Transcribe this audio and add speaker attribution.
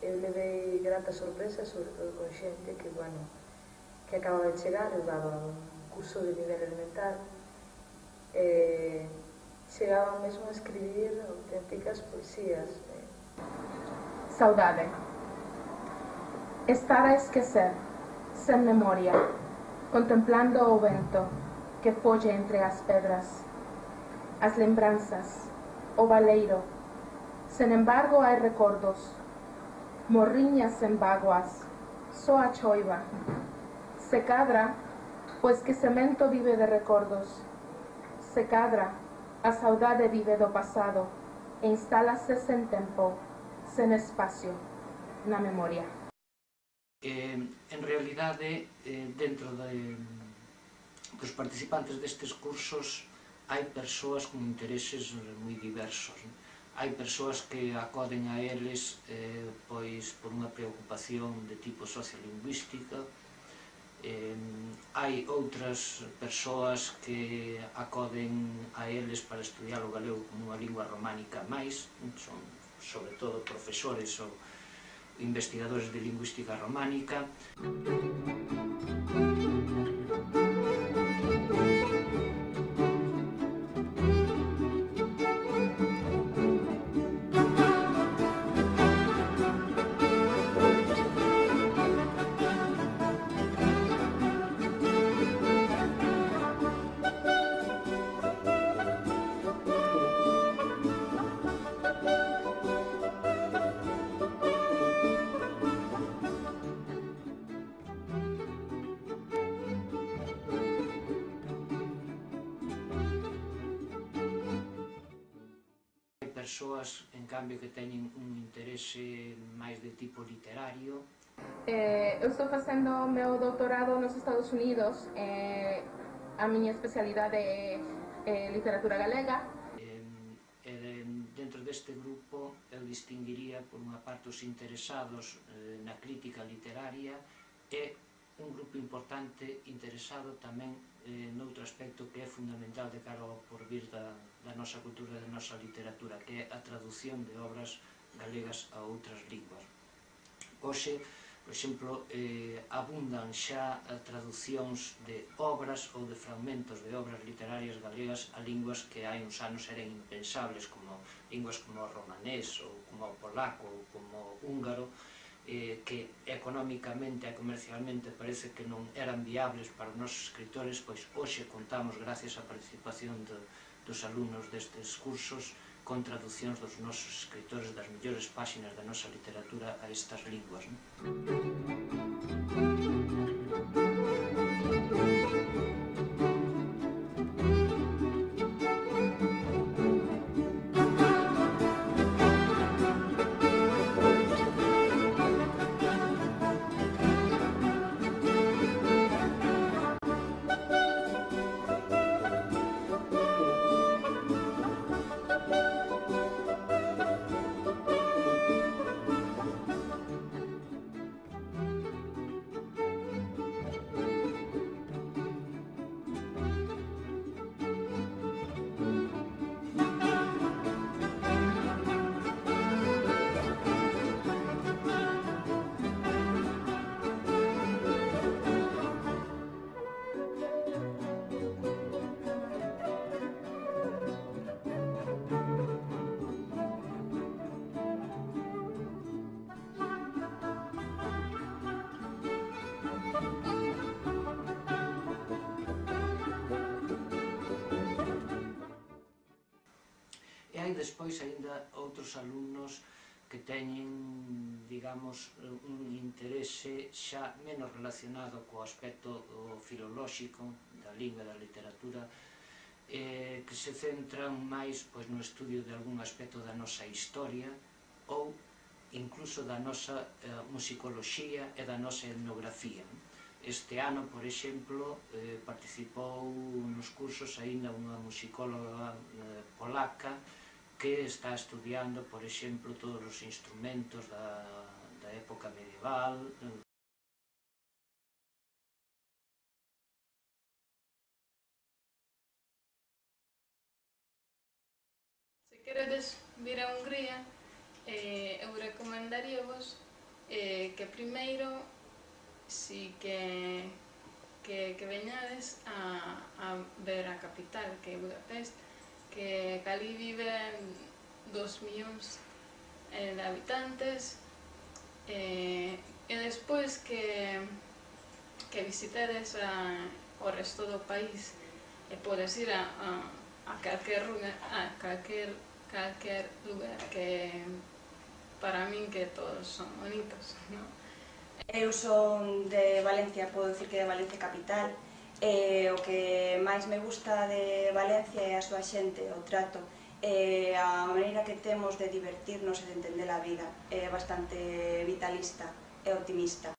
Speaker 1: eu levei grata sorpresa, sobre todo con xente que, bueno, que acaba de chegar. Eu daba un curso de nivel elemental e chegaban mesmo a escribir auténticas poesías.
Speaker 2: Saudade. Estar a esquecer, sen memoria, contemplando o vento que folle entre as pedras, as lembranzas, o baleiro. Sen embargo, hai recordos, morriñas sen vaguas, só a choiva. Se cadra, pois que semento vive de recordos. Se cadra, a saudade vive do pasado e instálase sen tempo, sen espacio, na memoria.
Speaker 3: En realidade, dentro dos participantes destes cursos hai persoas con intereses moi diversos. Hai persoas que acoden a eles pois por unha preocupación de tipo sociolingüística. Hai outras persoas que acoden a eles para estudiar o galego como unha lingua románica máis, son sobre todo profesores ou investigadores de lingüística románica. Persoas, en cambio, que teñen un interese máis de tipo literario.
Speaker 2: Eu estou facendo o meu doutorado nos Estados Unidos. A miña especialidade é literatura galega.
Speaker 3: Dentro deste grupo eu distinguiría por unha parte os interesados na crítica literaria e un grupo importante interesado tamén noutro aspecto que é fundamental de cara ao porvir da nosa cultura e da nosa literatura, que é a traducción de obras galegas a outras linguas. Hoxe, por exemplo, abundan xa traducións de obras ou de fragmentos de obras literarias galegas a linguas que hai uns anos eran impensables, como linguas como o romanés ou como o polaco ou como o húngaro, que económicamente e comercialmente parece que non eran viables para os nosos escritores, pois hoxe contamos, gracias á participación dos alumnos destes cursos, con traducións dos nosos escritores das mellores páxinas da nosa literatura a estas linguas. E hai despois aínda outros alumnos que teñen, digamos, un interese xa menos relacionado co aspecto filolóxico da lingua e da literatura, que se centran máis no estudio de algún aspecto da nosa historia ou incluso da nosa musicoloxía e da nosa etnografía. Este ano, por exemplo, participou nos cursos aínda unha musicóloga polaca que está estudiando, por exemplo, todos os instrumentos da época medieval.
Speaker 4: Se queredes vir a Hungría, eu recomendaríavos que primeiro si que veñades a ver a capital, que é Budapest, que ali viven 2 millóns de habitantes, e despois que visitedes o resto do país e podes ir a calquer lugar que para min que todos son bonitos, non?
Speaker 5: Eu son de Valencia, podo dicir que de Valencia capital, e o que máis me gusta de Valencia é a súa xente, o trato, e a maneira que temos de divertirnos e de entender a vida, é bastante vitalista e optimista.